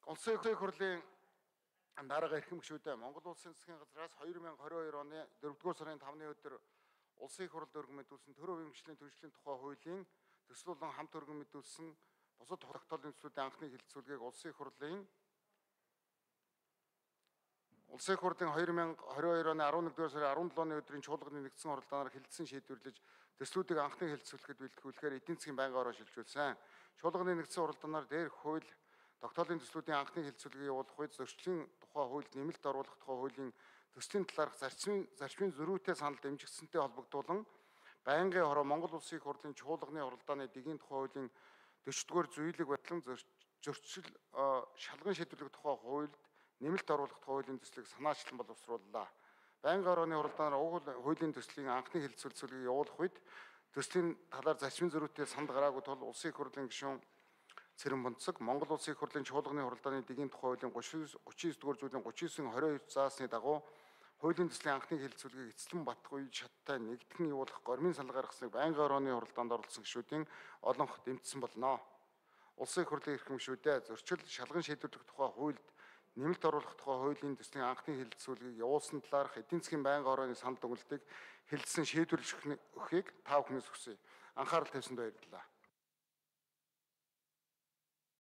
Улсын их хурлын дарга эрхэм гишүүдээ Монгол Улсын засгийн газраас 2022 оны 4-р сарын 5-ны өдөр Улсын их хурлд өргөн мэдүүлсэн төр хувийн хөгжлийн түвшлийн тухай хуулийн төсөл болон хамт өргөн мэдүүлсэн бусад тогтоолын төслүүдийн анхны хэлэлцүүлгийг Улсын их хурлын 2022 оны 11-р сарын 17-ны өдрийн чуулганы нэгдсэн хуралдаанаар хэлэлцсэн шийдвэрлэж төслүүдийг анхны хэлэлцүүлэхэд бэлтгүүлэхээр эдийн засгийн байнгын орон шилжүүлсэн. Чуулганы нэгдсэн хуралдаанаар дээрх хууль тогтоолын төслүүдийн анхны хэлэлцүүлгийг явуулах үед зөрчлийн тухай хуульд нэмэлт оруулах тухай хуулийн төслийн талаарх зарчмын зөрүүтэй санал дэмжигдсэнтэй холбогдуулан байнгын хороо Монгол Улсын их хурлын чуулганы хуралдааны дэгийн тухай хуулийн 40-р зүйлэг батлан зөрчил шалган шийдвэрлэх тухай хуульд нэмэлт оруулах тухай хуулийн төслийг санаачлан боловсрууллаа. Байнгын хорооны хуралдаанаар уг хуулийн төслийн анхны хэлэлцүүлгийг явуулах үед төслийн талаар зарчмын зөрүүтэй санд гараагүй тул Улсын их хурлын гишүүн Цэрэн Бунцаг Монгол Улсын их хурлын чуулганы хуралдааны дэгийн тухай хуулийн 39-р зүйлийн 39-22 заасны дагуу хуулийн төслийн анхны хэлэлцүүлгийг эцэслэн батах үед шаттай нэгтгэн явуулах гормын санал гаргасныг байнгын хорооны хуралдаанд оролцсон гишүүдийн олонх дэмжсэн болно. Улсын их хурлын эрхэм гишүүдээ зөрчил шалган шийдвэрлэх тухай хуульд нэмэлт оруулах тухай хуулийн төслийн анхны хэлэлцүүлгийг явуулсан талаарх эдийн засгийн байнгын хорооны санал дүгнэлтийг хэлэлцэн шийдвэрлэж өгөхийг та бүхнээс хүсье. Анхаарал тавьсанд баярлалаа.